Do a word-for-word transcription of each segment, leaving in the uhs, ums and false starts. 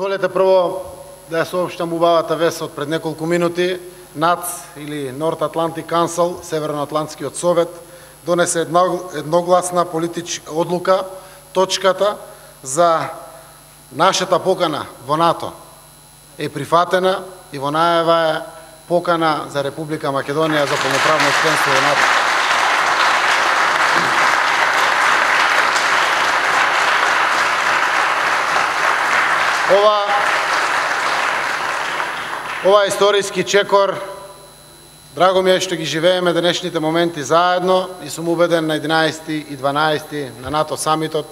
Дозволете прво да ја соопштам убавата вест од пред неколку минути. НАЦ или North Atlantic Council, Северноатлантскиот совет, донесе едногласна политичка одлука, точката за нашата покана во НАТО е прифатена и во најава е покана за Република Македонија за полноправно членство во НАТО. Ова Ова историски чекор, драго ми е што ги живееме денешните моменти заедно и сум убеден на единаесети и дванаесети на НАТО самитот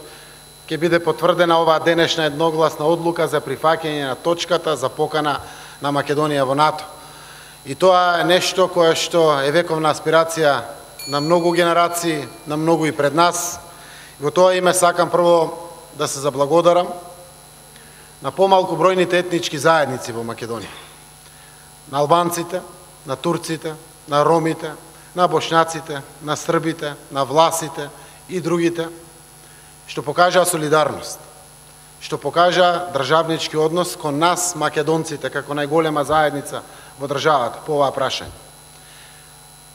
ќе биде потврдена оваа денешна едногласна одлука за прифаќање на точката за покана на Македонија во НАТО. И тоа е нешто кое што е вековна аспирација на многу генерации, на многу и пред нас. И во тоа име сакам прво да се заблагодарам на помалку бројните етнички заедници во Македонија. На албанците, на турците, на ромите, на бошњаците, на србите, на власите и другите, што покажаа солидарност, што покажаа државнички однос кон нас, македонците, како најголема заедница во државата по оваа прашање.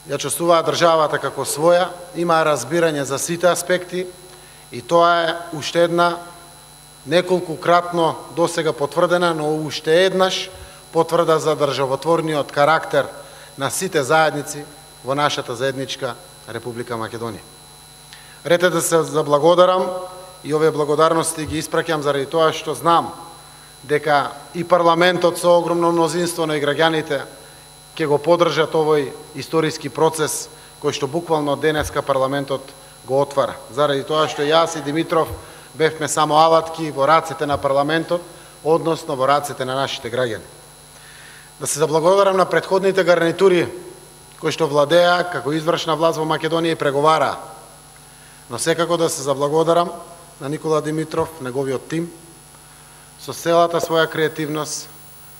Ја чувствуваа државата како своја, имаа разбирање за сите аспекти и тоа е уште една неколкукратно досега потврдена, но уште еднаш потврда за државотворниот карактер на сите заедници во нашата заедничка Република Македонија. Рете да се заблагодарам и овие благодарности ги испраќам заради тоа што знам дека и парламентот со огромно мнозинство, но и граѓаните ќе го поддржат овој историски процес кој што буквално денеска парламентот го отвара. Заради тоа што јас и Димитров бевме само алатки во рацете на парламентот, односно во рацете на нашите граѓани. Да се заблагодарам на претходните гарнитури кои што владеа како извршна власт во Македонија и преговараа. Но секако да се заблагодарам на Никола Димитров, неговиот тим, со целата своја креативност,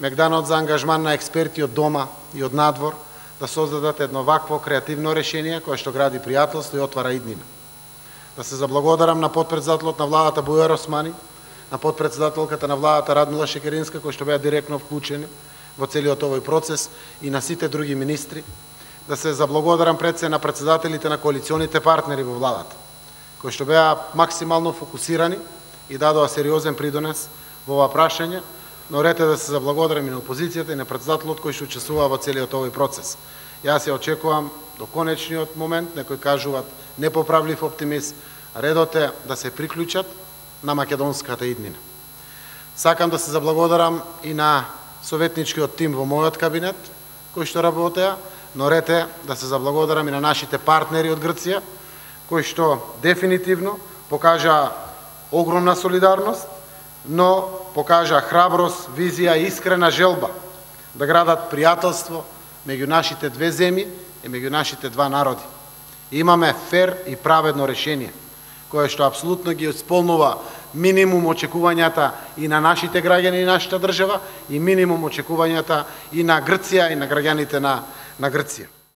мегданот за ангажман на експерти од дома и од надвор, да создадат едно вакво креативно решение кое што гради пријателство и отвара иднина. Да се заблагодарам на потпредседателот на владата Бујар Османи, на потпредседателката на владата Радмила Шекеринска, кои што беа директно вклучени во целиот овој процес и на сите други министри. Да се заблагодарам пред се на председателите на коалиционите партнери во владата, кои што беа максимално фокусирани и дадоа сериозен придонес во ова прашање, но рете да се заблагодарам и на опозицијата и на председателот кој што учествува во целиот овој процес. Јас ја очекувам до конечниот момент, некои кажуваат непоправлив оптимист, редот е да се приклучат на македонската иднина. Сакам да се заблагодарам и на советничкиот тим во мојот кабинет, кои што работеа, но рете да се заблагодарам и на нашите партнери од Грција, кои што дефинитивно покажаа огромна солидарност, но покажаа храброст, визија и искрена желба да градат пријателство меѓу нашите две земји и меѓу нашите два народи. Имаме фер и праведно решение, кое што апсолутно ги исполнува минимум очекувањата и на нашите граѓани и нашата држава и минимум очекувањата и на Грција и на граѓаните на, на Грција.